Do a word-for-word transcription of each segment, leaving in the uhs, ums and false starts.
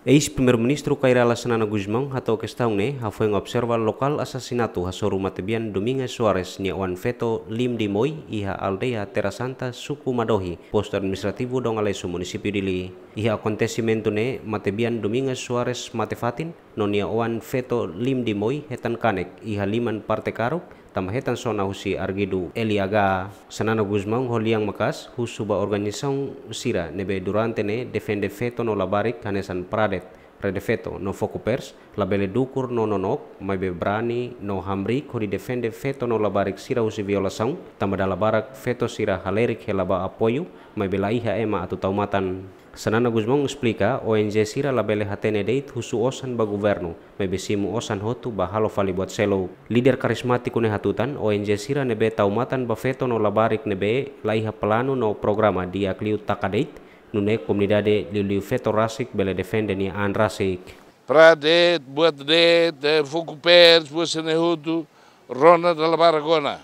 Eis-Primeiru-Ministru Kay Rala Xanana Gusmão hato'o kestaun ne'e hafoin observa lokál asasinatu hasoru matebian Domingas Soares nia oan-feto Lim Dimoi iha aldeia Terra Santa, suku Madohi, postu administrativu Dom Aleixo, munisípiu Dili. Iha akontesimentu ne'e, matebian Domingas Soares mate fatin, no nia oan-feto Lim Dimoi hetan kanek iha liman parte karuk, tanba hetan sona husi arguidu L I H. Xanana Gusmão ho lian maka'as husu ba organizasaun sira ne'ebé durante ne'e defende feto no labarik hanesan Pradet, Rede Feto no Fokupers, labele dukur no nonook, maibé brani no hamriik hodi defende feto no labarik sira husi violasaun, tanba dala barak feto sira halerik hela ba apoiu, maibé laiha ema atu tau matan. Xanana Gusmão esplika, O N G sira labele hatene de'it husu osan ba governu, maibé simu osan hotu ba halo fali buat seluk. Líder karizmátiku ne'e hatutan, O N G sira ne'ebé tau matan ba feto no labarik ne'ebé laiha planu no programa di'ak liu taka de'it, nune'e komunidade liuliu feto rasik bele defende nia an rasik. Pradet, buat de'it, eh, Fokupers, buat sira-ne'e hotu, rona dala barak ona.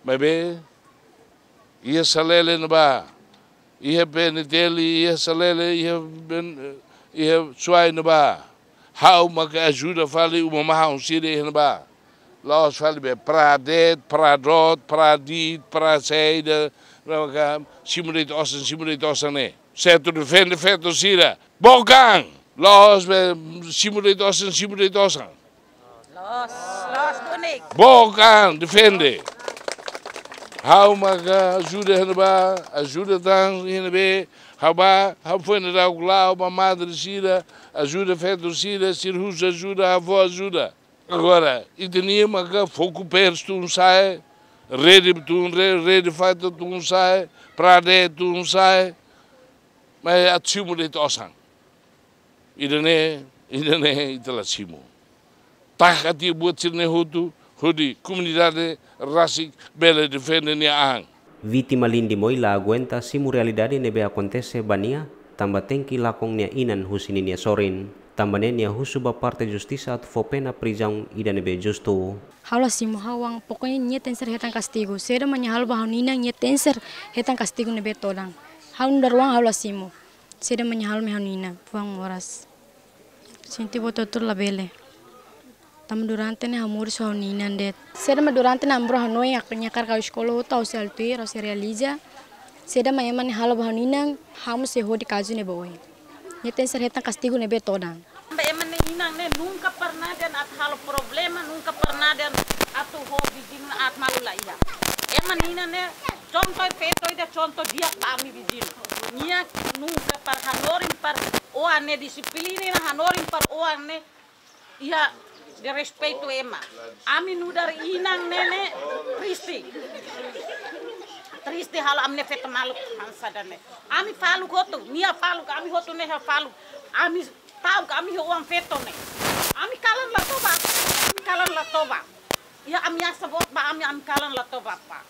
Maibé, iha Salele ne'ebá, iha P N T L, iha Salele, iha Ben-, iha Suai ne'ebá. Ha'u maka ajuda fali uma mahon sira iha ne'ebá. La'ós fali be Pradet, Pradot, Pradit, Prasaida, maka simu de'it osan, simu de'it osan ne'e. Sertu, defende feto sira. Book an, la'ós be simu de'it osan, simu de'it osan. Loos, loos, Tony. Book an, defende. Ha'u maka ajuda iha ne'ebá, ajuda tan iha ne'ebé, ha'u bá, ha'u foin daudauk la'o ba madre sira, ajuda feto sira, sira husu ajuda, ha'u fó ajuda. Agora, ita-nia maka Fokupers tun sa'e, Rede tun, Re-, Rede Feto tun sa'e, Pradet tun sa'e, maibé atu simu de'it osan. Ida-ne'e, ida-ne'e ita la simu. Taka tiha buat sira-ne'e hotu, hodi komunidade rasik bele defende nia an. Vítima Lim Dimoi la aguenta simu realidade ne'ebé akontese ba nia, tanba tenke lakon nia inan husi ninia sorin. Tanba ne'e nia husu ba parte justisa atu fó pena prizaun ida ne'ebé justu. Ha'u la simu, ha'u-an, pokoknya nia tenke ser hetan kastigu. Saida mak nia halo ba ha'u-nia inan, nia tenke ser hetan kastigu ne'ebé todan. Ha'u nu'udar oan ha'u la simu. Saida mak nia halo mai ha'u-nia inan, fuan moras. Sente buat hotu labele. Tanba durante ne'e ha'u moris ho ha'u-nia inan de'it. Saida mak durante ne'e ami rua hanoin, ha'u-nia hakarak ha'u eskola hotu, ha'u sei halo tuir, ha'u sei realiza. Saida mak ema ne'e halo ba ha'u-nia inan, ha'u mós sei hodi kazu ne'e ba oin. Nia tenke ser hetan kastigu ne'ebé todan. Tanba ema nia inan ne'e nunka pernah dehan atu halo problema, nunka pernah dehan atu ho viziñu aat malu, laiha. Ema nia inan ne'e contoh perfeitu ida, contoh di'ak ba ami viziñu. Nia nunka para hanorin para oan ne'e, dixiplina hanorin para oan ne'e, iha desrespeitu ema. Ami nu'udar inan ne'e, ne'e triste. Triste halo ami-nia feto maluk hanesan ida-ne'e. Ami faluk hotu, nia faluk, ami hotu ne'e faluk. Ami ta'uk ami-nia oan-feto ne'e. Ami kalan la toba, ami kalan la toba. Iha ameasa boot ba ami, ami kalan la toba, pá.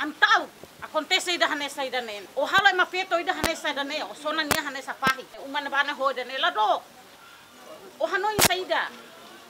Ami ta'uk, akontese ida hanesan ida-ne'e. Ó halo ema feto ida hanesan ida-ne'e, ó sona nia hanesan fahi. Uma ne'ebá ne'e ho ida-ne'e la dook. Ó hanoin saida?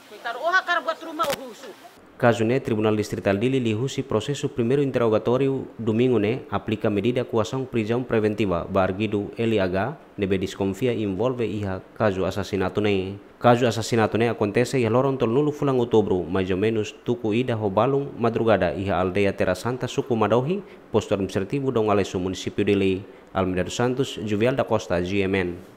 Koitadu, ó hakarak buat ruma ó husu. Kazu ne'e, Tribunál Distritál Dili liuhusi prosesu primeiru interrogatóriu domingu ne'e aplika medida koasaun prizaun preventiva ba arguidu L I H ne'ebé deskonfia envolve iha kazu asasinatu ne'e. Kazu asasinatu ne'e akontese iha loron tolunulu fulan Outubru, mais ou menus tuku ida ho balun madrugada iha aldeia Terra Santa, suku Madohi, postu administrativu Dom Aleixo, munisípiu Dili. Almeida dos Santos, Juvial da Costa, G M N.